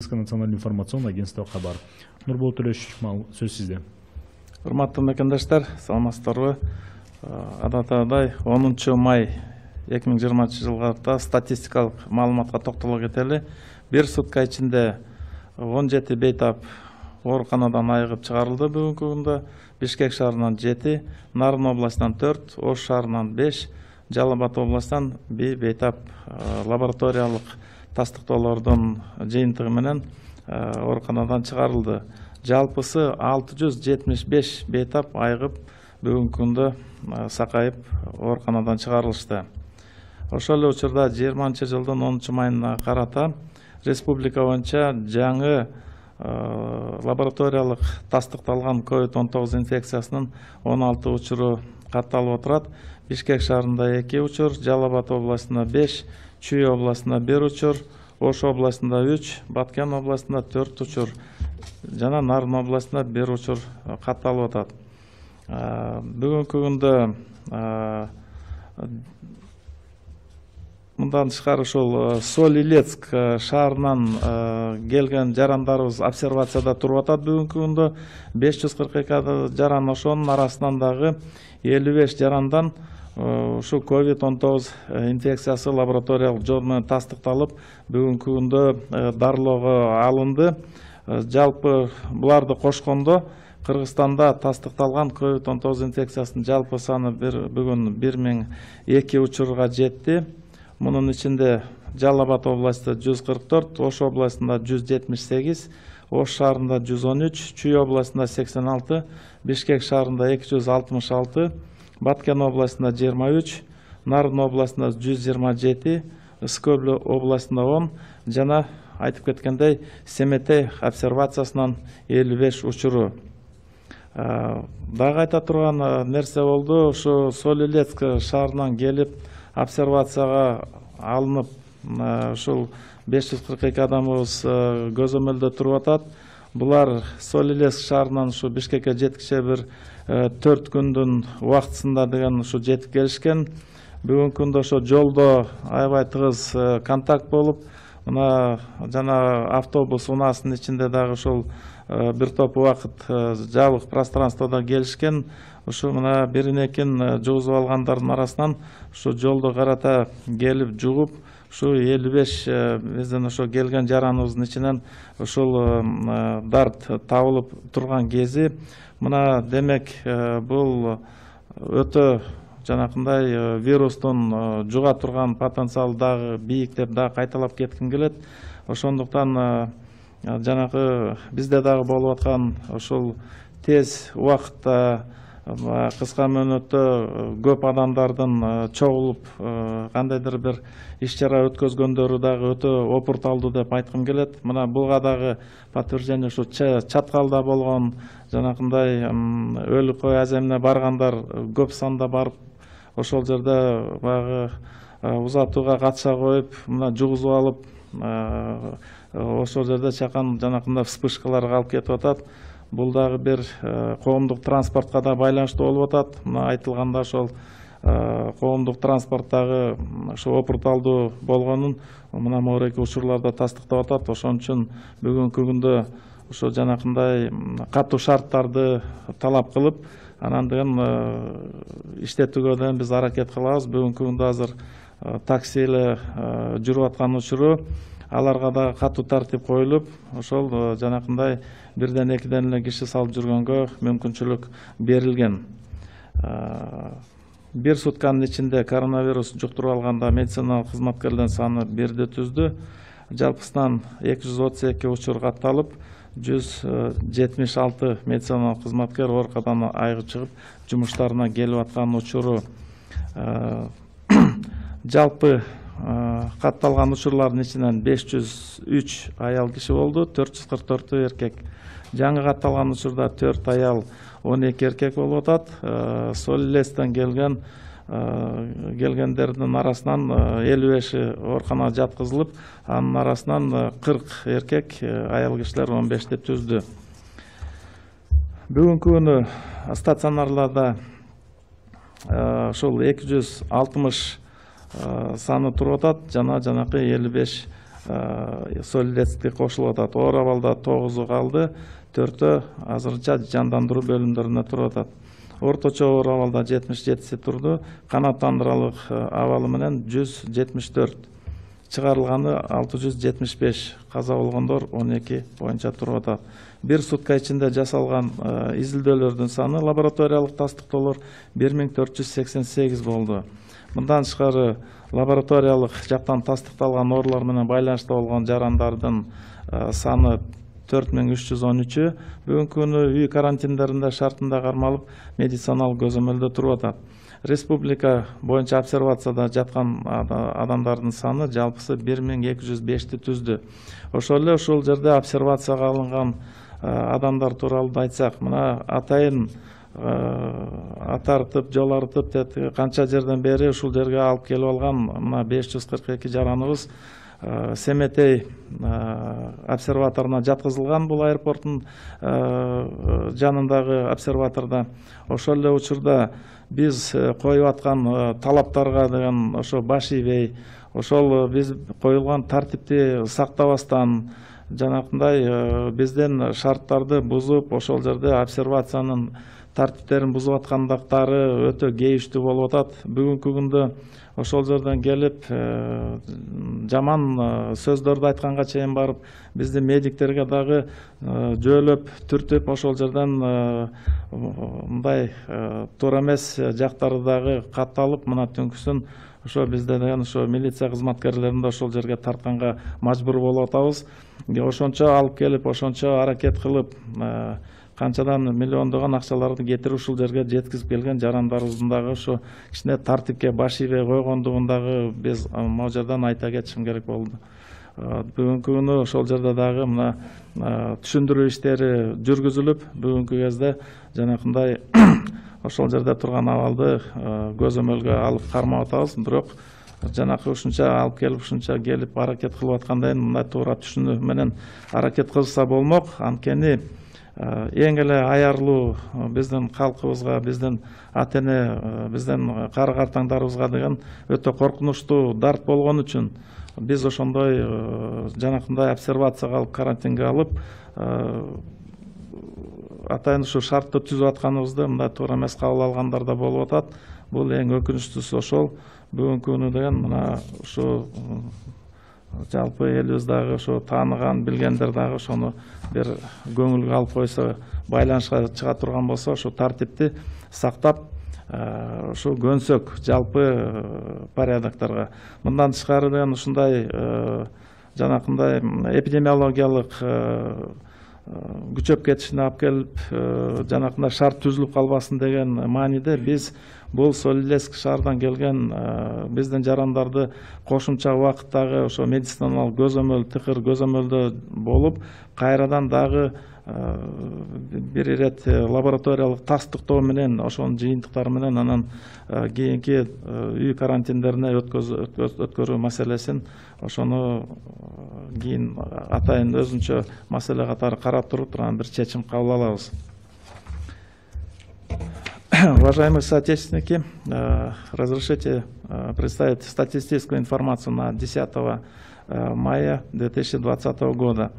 Национальный информационный агентство Хабар. Нурбол Төлешович, сөз сизде. Урматтуу мекендештер, саламатсыздарбы? Адаттай 10 май 2020 жылга статистикалык маалыматка токтоло кетели. Бир сутка ичинде 17 бейтап ооруканадан айыгып чыгарылды бүгүнкү күндө. Бишкек шаарынан 7, Нарын областынан 4, Ош шаарынан 5, Жалал Абад областынан бейтап лабораториялык тастыктоолордун жыйынтыгы менен ооруканадан чыгарылды. Жалпысы 675 бейтап айыгып бүгүнкү күндө сакайып ооруканадан чыгарылышты. Ошол эле учурда 20 жылдын 10 майына карата республика боюнча жаңы лабораториялык тастыкталган COVID-19 инфекциясынын 16 учуру катталып отурат. Бишкек шаарында 2 учур, Жалал Абад областында 5, Чүй областында 1 учур, Ош областында 3, Баткен областында 4 учур жана Нарын областында 1 учур катталып атат. Бүгүнкү күндө мындан тышкары ушул Соль-Илецк шаарынан келген жарандарыбыз обсервацияда туруп атат. Бүгүнкү күндө 542 жаран, ошонун арасынан дагы 55 жарандан ушу COVID-19 инфекциясы лабораториялык жол менен тастыкталып, бүгүнкү күндө дарылоого алынды. Жалпы буларды кошкондо Кыргызстанда тастыкталган COVID-19 инфекциясынын жалпы саны бүгүн 1002 учурга жетти. Мунун ичинде Жалал Абад областында 144, Ош областында 178, Ош шаарында 113, Чүй областында 86, Бишкек шаарында 266, Баткен областында 23, Нарын областында 127, Ысык областында 10 жана айтып кеткендей Семетей обсервациясынан 55 учуру. Дагы айта турган нерсе болду, ушу Соль-Илецк шаарынан келип обсервацияга алынып, ушул 542 адамыбыз көзөмөлдө туруп атат. Булар Соль-Илецк шаарынан ушу Бишкекке жеткиче бир 4 күндүн убактысында деген ушу жетип келишкен. Бүгүнкү күндө ошо жолдо аябай тыгыз контакт болуп, мына жана автобус унаасынын ичинде дагы ушул бир топ убакыт жабык пространствода келишкен. Ушу мына бирин-экин жугузуп алгандардын арасынан ушу жолдо карата келип жугуп, ушу 55 биздин ошо келген жараныбыздын ичинен ушул дарт табылып турган кези. Мына демек бул өтө жанакындай вирустун жуга турган потенциалы дагы бийик деп дагы кайталап кетким келет. Ошондуктан жанагы бизде дагы болуп аткан ушул тез убакытта кыска мөөнөттө көп адамдардын чогулуп кандайдыр бир иш-чара өткөзгөндөрү дагы өтө опурталдуу деп айткым келет. Мына буга дагы подтверждение ушу Чаткалда болгон жанакындай өлү кой аземине баргандар көп санда барып, ошол жерде баягы узатууга катыша коюп, мына жугузуп алып, ошол жерде чакан жанакындай вспышкаларга алып кетип атат. Бул дагы бир коомдук транспортко да байланыштуу болуп атат. Мына айтылганда ошол коомдук транспорттагы ошо опурталдуу болгонун мына могуреки учурларда тастыктап атат. Ошон үчүн бүгүнкү күндө ошо жанакындай катуу шарттарды талап кылып, анан деген иштетүүгө да биз аракет кылабыз. Бүгүнкү күндө азыр такси эле жүрүп аткан учуру, аларга да катуу тартип коюлуп, ошол жанакындай бирден экиден эле киши салып жүргөнгө мүмкүнчүлүк берилген. Бир сутканын ичинде коронавирус жуктуруп алганда медициналык кызматкерлердин саны 1-ди түздү. Жалпысынан 232 учур катталып, 176 медициналык кызматкер ооруканадан айыгып чыгып, жумуштарына келип аткан учуру. Жалпы катталган учурлардын ичинен 503 аял киши болду, 444 эркек. Жаңы катталган учурда 4 аял, 12 эркек болуп атат. Соль-Илецктен келгендердин арасынан 55 ооруканага жаткызылып, анын арасынан 40 эркек, аял кишилер 15 деп түздү. Бүгүнкү күнү стационарларда ушул 260 саны туруп атат, жана жанакы 55 Соль Илецкке кошулуп атат. Оор абалда 9 калды, 4 азырынча жандандыруу бөлүмдөрүндө туруп атат. Орточо оор абалда 77 турду, канааттандыралык абалы менен 174, чыгарылганы 675, каза болгондор 12 боюнча туруп атат. Бир сутка ичинде жасалган изилдөөлөрдүн саны лабораториялык тастыктоолор 1488 болду. Мындан тышкары лабораториялык жактан тастыкталган оорулар менен байланыштуу болгон жарандардын саны 4313. Бүгүнкү күнү үй карантиндеринде шартында кармалып медициналык көзөмөлдө туруп атат. Республика боюнча обсервацияда жаткан адамдардын саны жалпысы 1205 түздү. Ошол эле ушул жерде обсервацияга алынган адамдар тууралуу айтсак, мына атайын атартып, жол артып, канча жерден бери ушул жерге алып келип алган мына 542 жараныбыз Семетей обсерваторуна жаткызылган, бул аэропорттун жанындагы обсерваторда. Ошол эле учурда биз коюп аткан талаптарга деген ошо баш ийбей, ошол биз коюлган тартипти сактабастан, жанакындай бизден шарттарды бузуп, ошол жерде обсервациянын тартиптерин бузуп аткандыктары өтө кейиштүү болуп атат. Бүгүнкү күндө ошол жерден келип жаман сөздөрдү айтканга чейин барып, бизди медиктерге дагы жөөлөп, түртүп, ошол жерден мындай туура эмес жактары дагы катталып, мына түнкүсүн ошо бизде деген ошо милиция кызматкерлерин да ошол жерге тартканга мажбур болуп атабыз. Ошончо алып келип, ошончо аракет кылып, канчадан миллиондогон акчаларды кетирип ушул жерге жеткизип келген жарандарыбыздын дагы ошо кичине тартипке баш ийбей койгондугун дагы биз могу жерден айта кетишим керек болду. Бүгүнкү күнү ошол жерде дагы мына түшүндүрүү иштери жүргүзүлүп, бүгүнкү кезде жанакындай ошол жерде турган абалды көзөмөлгө алып кармап атабыз. Бирок жанакы ушунча алып келип, ушунча келип аракет кылып аткандан мындай туура түшүнүү менен аракет кылышса болмок. Анткени эң эле аярлуу биздин калкыбызга, биздин ата эне, биздин кары картаңдарыбызга деген өтө коркунучтуу дарт болгон үчүн биз ошондой жанакындай обсервацияга алып, карантинге алып, атайын ушу шартты түзүп атканыбызды мындай туура эмес кабыл алгандар да болуп атат. Бул эң өкүнүчтүүсү ошол. Бүгүнкү күнү деген мына ушу жалпы элибиз дагы ошо тааныган, билгендер дагы ошону бир көңүлгө алып койсо, байланышка чыга турган болсо, ошо тартипти сактап, ошо көнсөк жалпы порядокторго. Мындан тышкары деген ушундай жанакындай эпидемиологиялык күчөп кетишине алып келип, жанакындай шарт түзүлүп калбасын деген мааниде биз бул Соль Илецк шаарынан келген биздин жарандарды кошумча убакыттагы ошо медициналык көзөмөл, тыкыр көзөмөлдө болуп, кайрадан дагы бир ирет лабораториялык тастыктоо менен, ошонун жыйынтыктары менен анан кийинки үй карантиндерине өткөрүү маселесин ошону кийин атайын өзүнчө маселе катары карап туруп анан бир чечим кабыл алабыз. Уважаемые соотечественники, разрешите представить статистическую информацию на 10 мая 2020 года.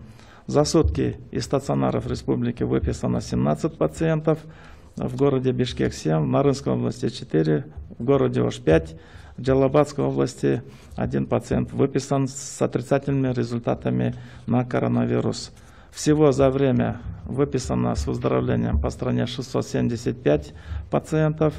За сутки из стационаров республики выписано 17 пациентов, в городе Бишкек 7, в Нарынской области 4, в городе Ош 5, в Джалабадской области 1 пациент выписан с отрицательными результатами на коронавирус. Всего за время выписано с выздоровлением по стране 675 пациентов.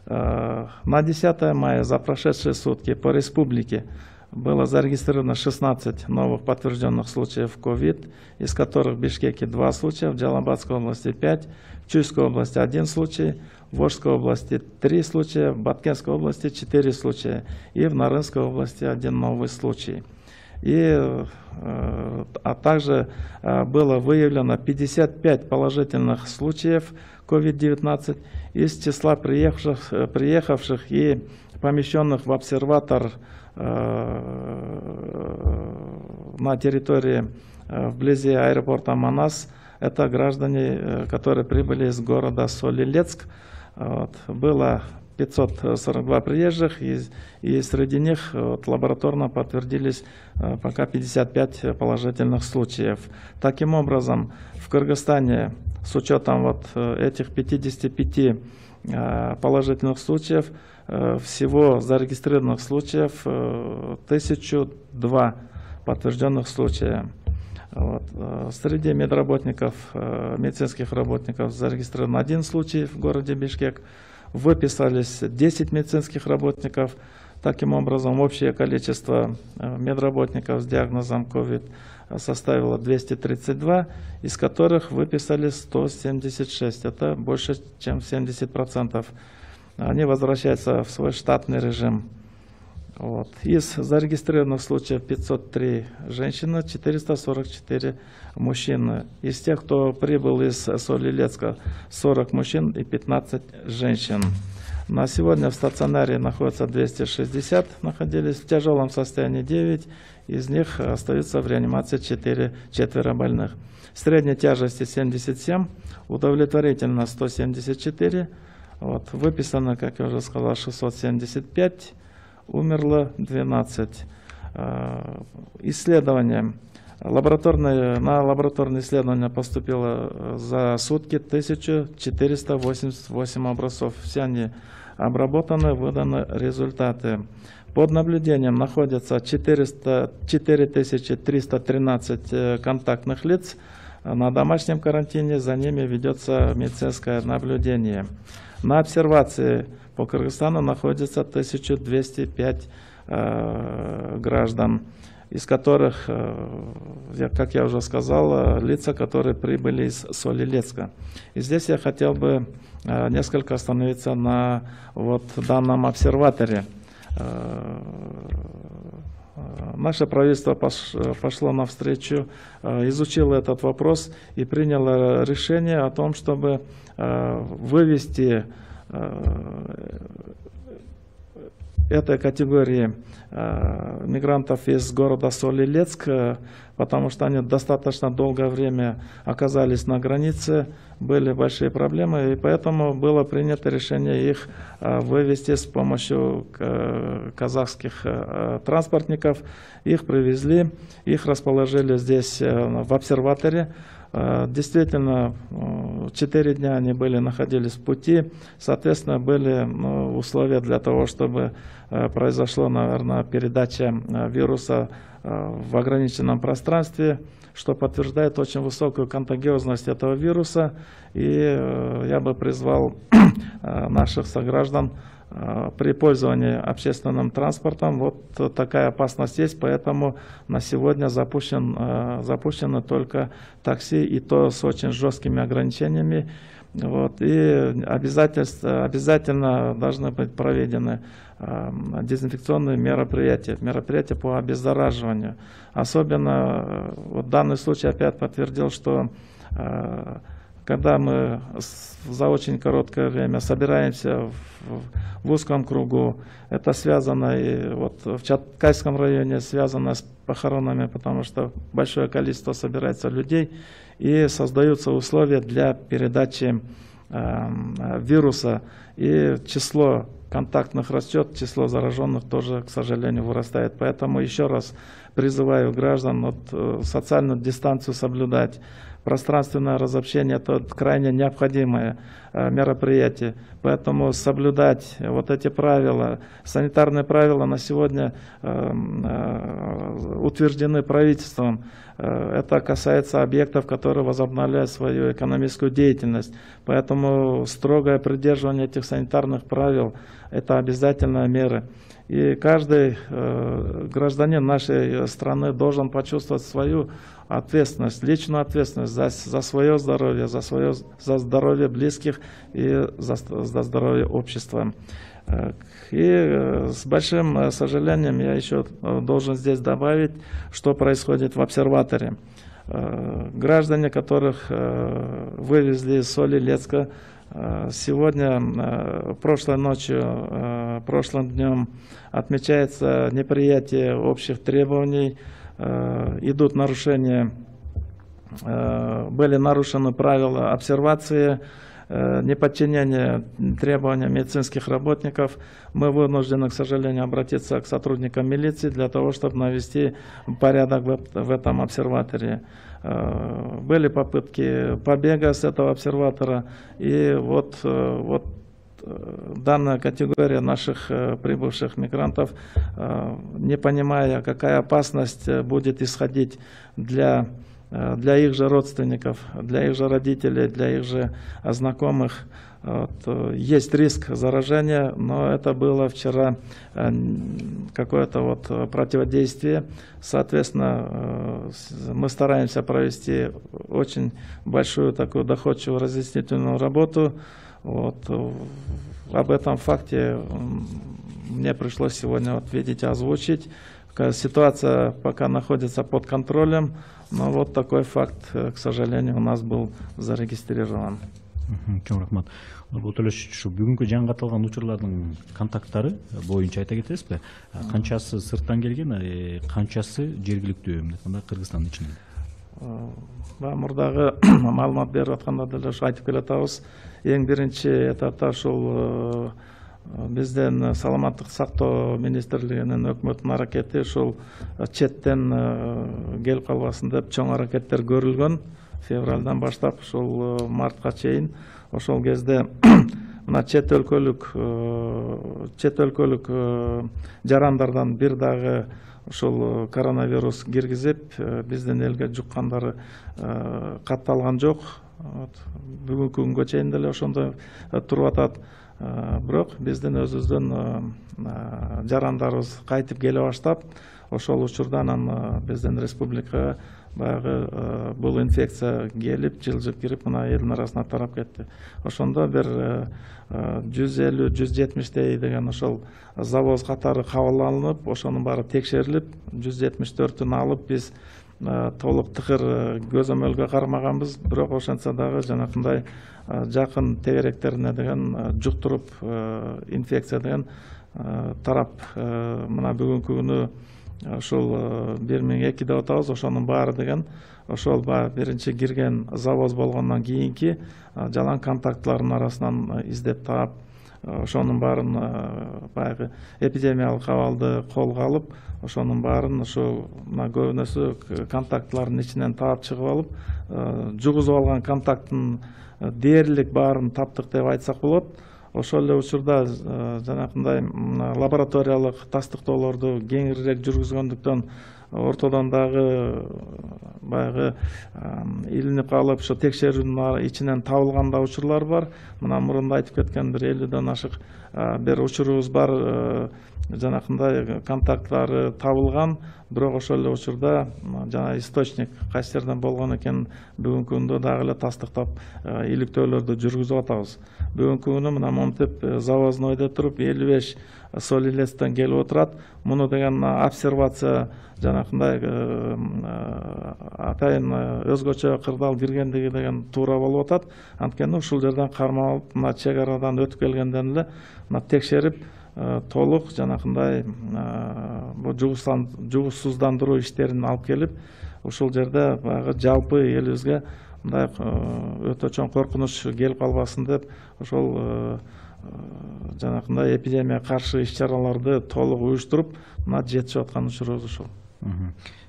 На 10 мая за прошедшие сутки по республике было зарегистрировано 16 новых подтвержденных случаев COVID, из которых в Бишкеке 2 случая, в Джалабадской области 5, в Чуйской области 1 случай, в Ошской области 3 случая, в Баткенской области 4 случая и в Нарынской области 1 новый случай. А также было выявлено 55 положительных случаев COVID-19 из числа приехавших и помещенных в обсерватор на территории вблизи аэропорта Манас. Это граждане, которые прибыли из города Соль Илецк. Было 542 приезжих, и среди них лабораторно подтвердились пока 55 положительных случаев. Таким образом, в Кыргызстане с учетом этих 55 положительных случаев всего зарегистрированных случаев 1002 подтвержденных случая. Среди медработников, медицинских работников зарегистрирован 1 случай в городе Бишкек. Выписались 10 медицинских работников. Таким образом, общее количество медработников с диагнозом COVID составило 232, из которых выписали 176. Это больше, чем 70%. Они возвращаются в свой штатный режим. Из зарегистрированных случаев 503 женщины, 444 мужчины. Из тех, кто прибыл из Соль-Илецка, 40 мужчин и 15 женщин. На сегодня в стационаре находится 260, находились в тяжелом состоянии 9, из них остаются в реанимации 4 больных. Средней тяжести 77, удовлетворительно 174, выписано, как я уже сказал, 675. Умерло 12. Исследования. На лабораторные исследования поступило за сутки 1488 образцов. Все они обработаны, выданы результаты. Под наблюдением находятся 4313 контактных лиц. На домашнем карантине за ними ведется медицинское наблюдение. На обсервации по Кыргызстану находится 1205 граждан, из которых, как я уже сказал, лица, которые прибыли из Соль-Илецка. И здесь я хотел бы несколько остановиться на данном обсерваторе. Наше правительство пошло навстречу, изучило этот вопрос и приняло решение о том, чтобы вывести этой категории мигрантов из города Соль-Илецк, потому что они достаточно долгое время оказались на границе, были большие проблемы, и поэтому было принято решение их вывести с помощью казахских транспортников. Их привезли, их расположили здесь в обсерваторе. Действительно, 4 дня они находились в пути, соответственно, были условия для того, чтобы произошла, наверное, передача вируса в ограниченном пространстве, что подтверждает очень высокую контагиозность этого вируса. И я бы призвал наших сограждан при пользовании общественным транспортом. Такая опасность есть, поэтому на сегодня запущены только такси, и то с очень жесткими ограничениями. И обязательно должны быть проведены дезинфекционные мероприятия по обеззараживанию. Особенно данный случай опять подтвердил, что когда мы за очень короткое время собираемся в узком кругу, это связано и в Чаткайском районе связано с похоронами, потому что большое количество собирается людей, и создаются условия для передачи вируса, и число контактных растет, число зараженных тоже, к сожалению, вырастает. Поэтому еще раз призываю граждан социальную дистанцию соблюдать. Пространственное разобщение – это крайне необходимое мероприятие. Поэтому соблюдать эти правила, санитарные правила на сегодня утверждены правительством. Это касается объектов, которые возобновляют свою экономическую деятельность. Поэтому строгое придерживание этих санитарных правил – это обязательная мера. И каждый гражданин нашей страны должен почувствовать свою ответственность, личную ответственность за свое здоровье, за здоровье близких и за здоровье общества. И с большим сожалением я еще должен здесь добавить, что происходит в обсерваторе. Граждане, которых вывезли из Соль-Илецка, сегодня, прошлой ночью, прошлым днем отмечается неприятие общих требований, идут нарушения, были нарушены правила обсервации, неподчинение требованиям медицинских работников, мы вынуждены, к сожалению, обратиться к сотрудникам милиции для того, чтобы навести порядок в этом обсерватории. Были попытки побега с этого обсерватора, и вот данная категория наших прибывших мигрантов, не понимая, какая опасность будет исходить для их же родственников, для их же родителей, для их же знакомых. Есть риск заражения, но это было вчера какое-то противодействие. Соответственно, мы стараемся провести очень большую такую доходчивую разъяснительную работу. Об этом факте мне пришлось сегодня видеть, озвучить. Ситуация пока находится под контролем, но вот такой факт, к сожалению, у нас был зарегистрирован. Чоң рахмат. Нурбол Төлешович, ушу бүгүнкү жаңы катталган учурлардын контакттары боюнча айта кетесизби? Канчасы сырттан келген, канчасы жергиликтүү, мындай айтканда Кыргызстандын ичинен? Мурдагы маалымат берип атканда деле ушу айтып келатабыз. Эң биринчи этапта ушул бизден саламаттык сактоо министрлигинин өкмөттүн аракети ушул четтен келип калбасын деп чоң аракеттер көрүлгөн. Февралдан баштап ушул мартка чейин ошол кезде мына чет өлкөлүк жарандардан бир дагы ушул коронавирус киргизип биздин элге жуккандары катталган жок. Бүгүнкү күнгө чейин деле ошондой туруп атат. Бирок биздин өзүбүздүн жарандарыбыз кайтып келе баштап, ошол учурдан биздин республикага баягы бул инфекция келип, жылжып кирип, мына элдин арасына тарап кетти. Ошондо бир 150-170 деген ошол завоз катары кабыл алынып, ошонун баары текшерилип, 174-ün алып биз толук тыкыр көзөмөлгө кармаганбыз. Бирок ошентсе дагы жанакындай жакын тегеректерине деген жуктуруп инфекция деген тарап, мына бүгүнкү күнү ошол 1002 деп атабыз, ошонун баары деген ошол биринчи кирген завоз болгондон кийинки жалаң контактлардын арасынан издеп таап, ошонун баарын баягы эпидемиялык абалды колго алып, ошонун баарын ошол көбүнөсү контактлардын ичинен таап чыгып алып, жугузуп алган контакттын дээрлик баарын таптык деп айтсак болот. Ошол эле учурда жанакындай лабораториялык тастыктоолорду кеңирирээк жүргүзгөндүктөн ортодон дагы баягы илинип калып, ошо текшерүүнүн ичинен табылган да учурлар бар. Мына мурунда айтып кеткен бир 50ден ашык бир учурубуз бар, жанакындай контактлары табылган. Бирок ошол эле учурда жана источник кайсы жерден болгон экен бүгүнкү күндө дагы эле тастыктап иликтөөлөрдү жүргүзүп атабыз. Бүгүнкү күнү мына монтип завознойдо туруп 55 Солилецтен келип отурат. Муну деген обсервация жанакындай атайын өзгөчө кырдаал киргендиги деген туура болуп атат. Анткени ушул жерден кармап алып, мына чек арадан өтүп келгенден эле мына текшерип толук жанакындай бул жугузсуздандыруу иштерин алып келип, ушул жерде баягы жалпы элибизге мындай өтө чоң коркунуч келип калбасын деп ошол жанакындай эпидемияга каршы иш-чараларды толук уюштуруп, мына жетишип аткан учурубуз ушул.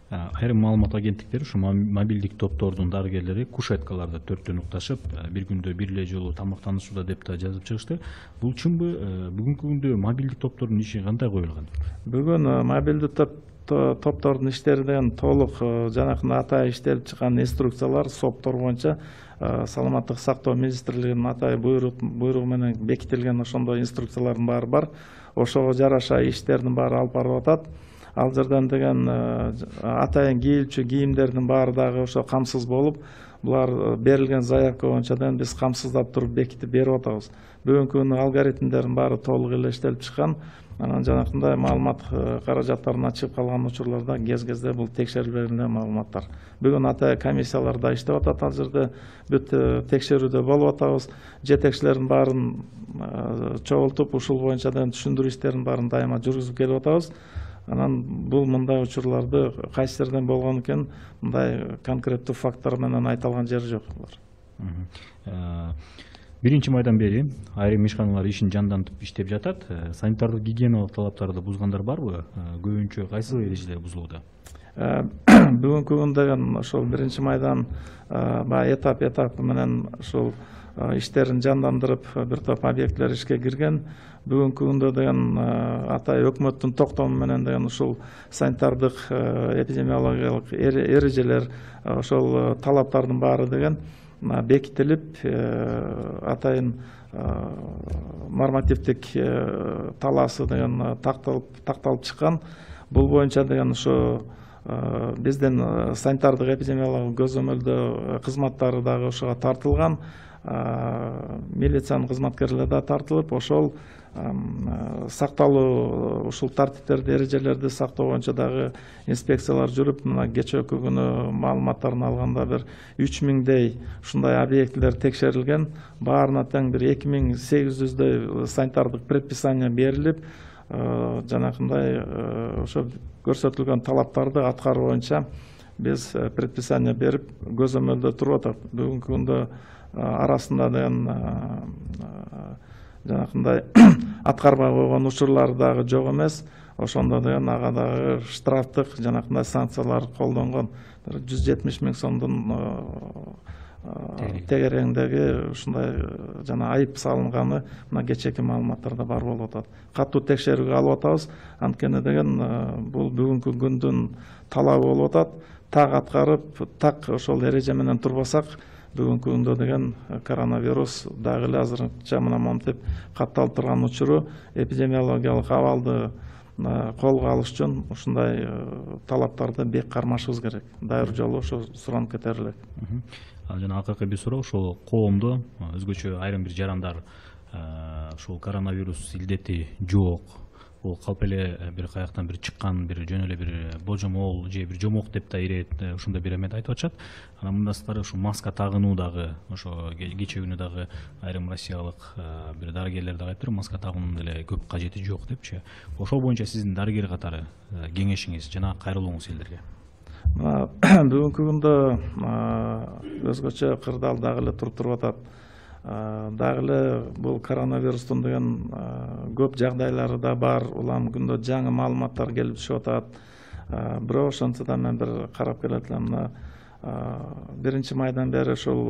Айрым маалымат агенттиктери ушу мобилдик топтордун дарыгерлери кушеткаларда төрттөн укташып, бир күндө бир эле жолу тамактанышууда деп да жазып чыгышты. Бул чынбы? Бүгүнкү күндө мобилдик топтордун иши кандай коюлган? Бүгүн мобилдик топтордун иштери деген толук жанакындай атайын иштелип чыккан инструкциялар СОПтор боюнча саламаттык сактоо министрлигинин атайын буйругу менен бекитилген ошондой инструкциялардын баары бар. Ошого жараша иштердин баары алып барылып атат. Ал жерден деген атайын кийилчү кийимдердин баары дагы ошо камсыз болуп, булар берилген заявка боюнча биз камсыздап туруп бекитип берип атабыз. Бүгүнкү күнү алгоритмдердин баары толук эле иштелип чыккан. Анан жанакындай маалымат каражаттарына чыгып калган учурларда кез-кезде бул текшерилбеген маалыматтар. Бүгүн атайын комиссиялар да иштеп атат. Ал жерде бүт текшерүүдө болуп атабыз. Жетекчилердин баарын чогултуп, ушул боюнча түшүндүрүү иштерин баарын дайыма жүргүзүп келип атабыз. Анан бул мындай учурларды кайсы жерден болгон экен, мындай конкреттүү факттар менен айта алган жери жок. 1 майдан бери айрым ишканалар ишин жандантып иштеп жатат. Санитардык гигиеналык талаптарды бузгандар барбы? Көбүнчө кайсы эрежелер бузулууда? Бүгүнкү күн деген ошол 1 майдан баягы этап менен ушул иштерин жандандырып бир топ объектилер ишке кирген. Бүгүнкү күндө деген атай өкмөттүн токтому менен деген ушул санитардык эпидемиологиялык эрежелер, ошол талаптардын баары деген бекитилип, атайын нормативдик талаасы деген такталып чыккан. Бул боюнча деген ошо биздин санитардык эпидемиологиялык көзөмөлдөө кызматтары дагы ошого тартылган. Милициянын кызматкерлери да тартылып, ошол сакталуу, ушул тартиптерди, эрежелерди сактоо боюнча дагы инспекциялар жүрүп, мына кечээки күнү маалыматтарын алганда бир 3000дей ушундай объектилер текшерилген. Баарына тең бир 2800дөй санитардык предписание берилип, жанакындай ошо көрсөтүлгөн талаптарды аткаруу боюнча биз предписание берип көзөмөлдө туруп атат. Бүгүнкү күндө арасында деген жанакындай аткарбай койгон учурлар дагы жок эмес. Ошондо деген ага дагы штрафтык жанакындай санкциялар колдонгон. 170 000 сомдун тегерегиндеги ушундай жана айып салынганы мына кечээки маалыматтарда бар болуп атат. Катуу текшерүүгө алып атабыз. Анткени деген бул бүгүнкү күндүн талабы болуп атат. Так аткарып, так ошол эреже менен турбасак, бүгүнкү күндө деген коронавирус дагы эле азырынча мына монтип катталып турган учуру эпидемиологиялык абалды колго алыш үчүн ушундай талаптарды бек кармашыбыз керек. Дайыр жолу ошо суранып кетер элек. Жана акыркы бир суроо, ошол коомдо өзгөчө айрым бир жарандар ушул коронавирус илдети жок, бул калп эле бир каяктан бир чыккан, бир жөн эле бир божомол же бир жомок деп да ирет, ушундай бир эметти айтып атышат. Анан мындан сырткары ушу маска тагынуу дагы, ошо кечээ күнү дагы айрым россиялык бир дарыгерлер дагы айтыптыр, маска тагуунун деле көп кажети жок депчи. Ошол боюнча сиздин дарыгер катары кеңешиңиз жана кайрылууңуз элдерге? Бүгүнкү күндө өзгөчө кырдаал дагы эле туруп атат. Дагы эле бул коронавирустун деген көп жагдайлары да бар. Улам күндө жаңы маалыматтар келип түшүп атат. Бирок ошентсе да мен бир карап келет элем. 1 майдан бери ошол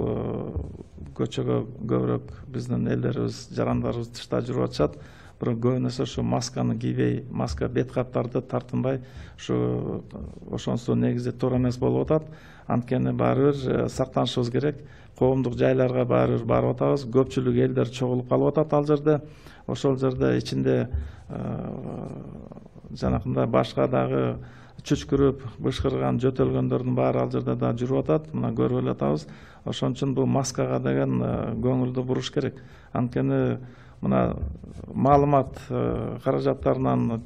көчөгө көбүрөөк биздин элдерибиз, жарандарыбыз тышта жүрүп атышат. Бирок көбүнесе ушу масканы кийбей, маска бет каптарды тартынбай, ошонусу негизи туура эмес болуп атат. Анткени баары бир сактанышыбыз керек. Коомдук жайларга баары бир барып атабыз. Көпчүлүк элдер чогулуп калып атат ал жерде. Ошол жерде ичинде жанакындай башка дагы чүчкүрүп, бышкырган, жөтөлгөндөрдүн баары ал жерде да жүрүп атат. Мына көрүп эле атабыз. Ошон үчүн бул маскага деген көңүлдү буруш керек. Анткени мына маалымат каражаттарынан,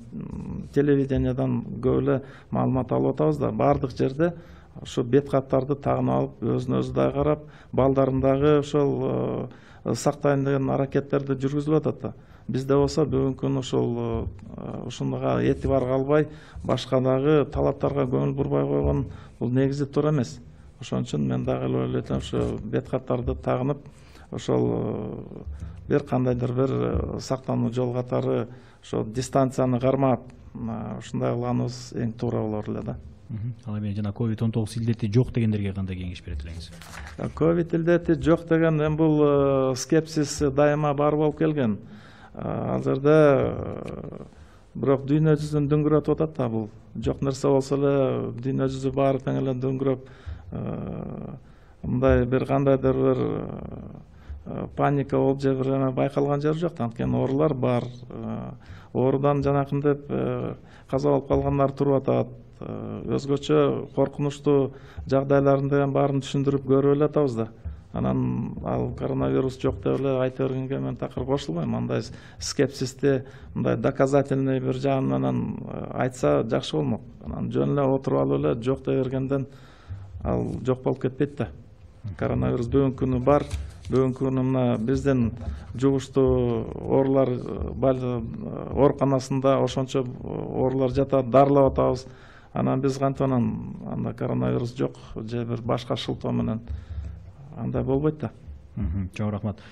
телевидениядан көп эле маалымат алып атабыз да, баардык жерде ушу бет каптарды тагынып алып, өзүнө өзү дагы карап, балдарын дагы ошол сактайын деген аракеттерди жүргүзүп атат да. Бизде болсо бүгүнкү күн ошол ушунга этибар калбай, башка дагы талаптарга көңүл бурбай койгон бул негизи туура эмес. Ошон үчүн мен дагы ойлойт элем, ушу бет каптарды тагынып, ошол бир кандайдыр бир сактануу жол катары ошо дистанцияны кармап, ушундай кылганыбыз эң туура болор эле да. Ал эми жана COVID-19 илдети жок дегендерге кандай кеңеш берет элеңиз? Ковид илдети жок деген эми бул скепсис дайыма бар болуп келген. Ал жерде бирок дүйнө жүзүн дөңгөрөтүп атат да, бул жок нерсе болсо эле дүйнө жүзү баары тең эле дөңгөрөп, мындай бир кандайдыр бир паника болуп же бир эме байкалган жери жок. Анткени оорулар бар. Оорудан жанакындай каза болуп калгандар туруп атат. Өзгөчө коркунучтуу жагдайларын деген баарын түшүндүрүп көрүп эле атабыз да. Анан ал коронавирус жок деп эле айта бергенге мен такыр кошулбайм. Андай скепсисти мындай доказательный бир жагы менен айтса жакшы болмок. Анан жөн эле отуруп алып эле жок деп бергенден ал жок болуп кетпейт да. Коронавирус бүгүнкү күнү бар. Бүгүнкү күнү мына биздин жугуштуу оорулар ооруканасында ошончо оорулар жатат, дарылап атабыз. Анан биз кантип анда коронавирус жок же бир башка шылтоо менен андай болбойт да. Чоң рахмат.